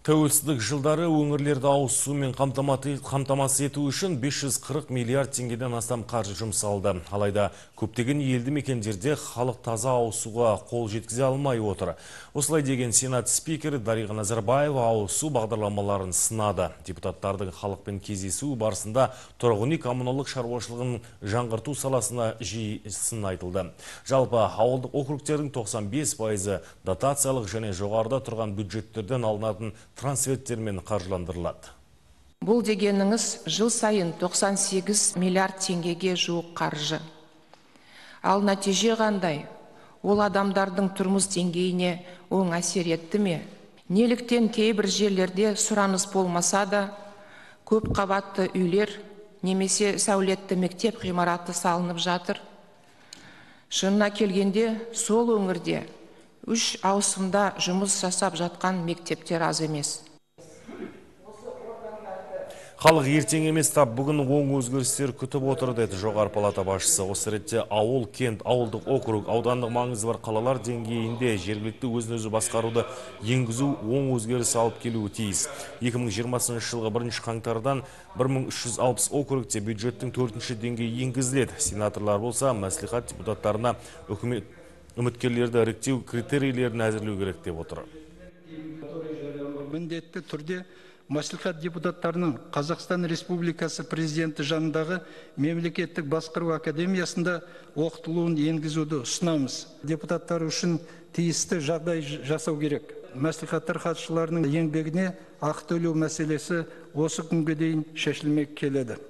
Тәуелсіздік жылдары өңірлерді ауыз сумен қамтамасыз ету үшін 540 миллиард теңгеден астам қаржы жұмсалды. Алайда көптеген елді мекендерде халық таза ауыз суға қол жеткізе алмай отыр. Осылай деген Сенат спикері Дариға Назарбаева ауыз су бағдарламаларын сынады. Депутаттардың халықпен кездесуі барысында тұрғын үй коммуналдық шаруашылығын жаңғырту саласына жиі сын айтылды. Жалпы ауылдық округтердің 95% дотациялық және жоғарыда тұрған бюджеттерден алынатын трансферттермен қаржыландырылады. Бұл дегеніңіз жыл сайын 98 миллиард теңгеге жуық қаржы. Ал нәтиже қандай? Ол адамдардың тұрмыс деңгейіне оң әсер етті ме? Неліктен кейбір жерлерде сұраныс болмаса да, көп қабатты үйлер немесе сәулетті мектеп ғимараты салынып жатыр? Шынына келгенде, сол өңірде 3 ауысымда жұмыс жасап жатқан мектептер аз емес. Халық ертең емес тап бүгін оң өзгерістер күтіп отыр деді жоғары палата басшысы. Осы ретте ауыл, кент, ауылдық округ, аудандық маңызы бар қалалар деңгейінде жергілікті өзін-өзі басқаруды енгізу оң өзгеріс алып келуі тиіс. 2020 жылғы 1 қаңтардан 1360 округте бюджеттің 4-ші деңгейі енгізіледі. Сенаторлар болса, мәслихат депутаттарына үміткерлерді іріктеу критерийлерін әзірлеу керек деп отыр. Міндетті түрде мәслихат депутаттарының Қазақстан Республикасы президенті жанындағы мемлекеттік басқару академиясында оқытылуын енгізуді ұсынамыз. Депутаттар үшін тиісті жағдай жасау керек. Мәслихаттар хатшыларының еңбегіне ақы төлеу мәселесі осы күнге дейін шешілмей келеді.